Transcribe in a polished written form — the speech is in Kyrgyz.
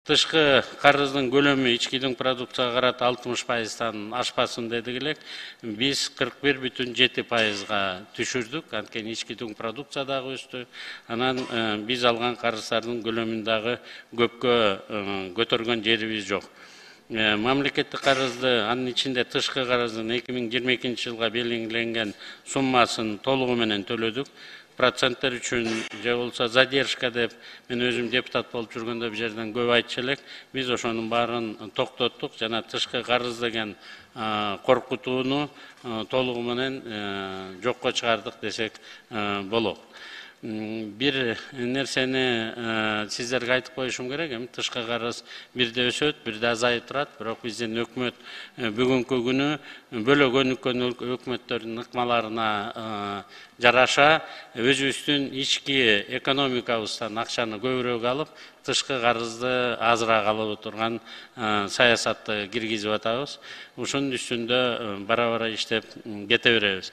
тышкы карыздын көлөмү ички продукцияга карата 60%-тан ашпасын дедик элек. Биз 41,7%-га түшүрдүк. Анткени ички продукция дагы өстү. Анан биз алган карыздардын көлөмүн дагы көпкө көтөргөн жерибиз жок. Мамлекеттик карызды, анын ичинде тышкы карыздын 2022-жылга белгиленген суммасын толугу менен төлөдүк. Проценттер үчүн же болсо задержка деп мен өзүм депутат болуп жүргөндө бул жерден көп айтчу элек. Биз ошонун баарын токтоттук жана тышкы карыз деген коркутууну толугу менен жокко чыгардык десек болот. Бир нерсени сиздерге айтып коюшум керек. Эми тышкы карыз бирде өсөт, бирде азайып турат. Бирок биздин өкмөт бүгүнкү күнү бөлөгөн өкмөттөрдүн ыкмаларына жараша өзүбүздүн ички экономикабыздан акчаны көбүрөөк алып, тышкы карызды азыраак алып отурган саясатты киргизип атабыз. Ушунун үстүндө бара-бара иштеп кете беребиз.